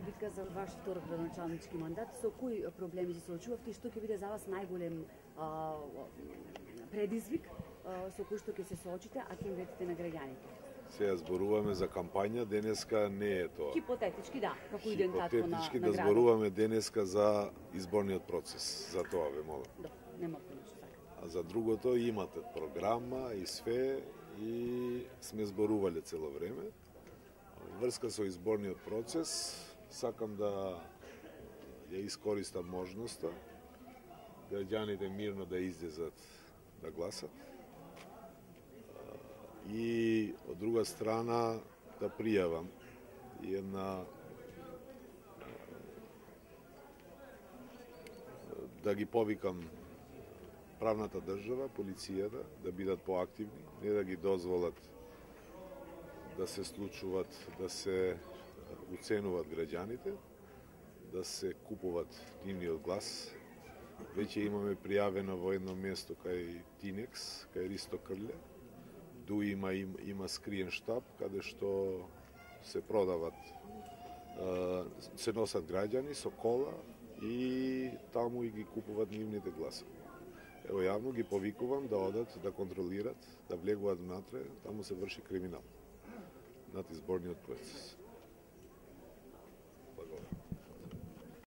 битка за ваш втор градоначалнички мандат. Со кои проблеми се соочувавте и што ќе биде за вас најголем предизвик со кој што ќе се соочите, а ќе им ветите на граѓаните? Сега зборуваме за кампања, денеска не е тоа. Хипотетички, да, како иден татко на Хипотетички да градот. зборуваме денеска за изборниот процес, за тоа ве молам. Да, нема повеќе така. А за другото имате програма и све и сме зборувале цело време. Врска со изборниот процес, сакам да ја искористам можноста граѓаните мирно да излезат да гласат. И од друга страна да пријавам една да ги повикам правната држава, полицијата да бидат поактивни, не да ги дозволат да се случуваат, да се уценуваат граѓаните, да се купуваат нивниот глас. Веќе имаме пријавено во едно место кај Тинекс, кај Ристо Крле. Ду има скриен штаб каде што се продават, се носат граѓани со кола и таму и ги купуваат нивните гласови. Ево јавно ги повикувам да одат, да контролират, да влегуваат внатре, таму се врши криминал над изборниот процес.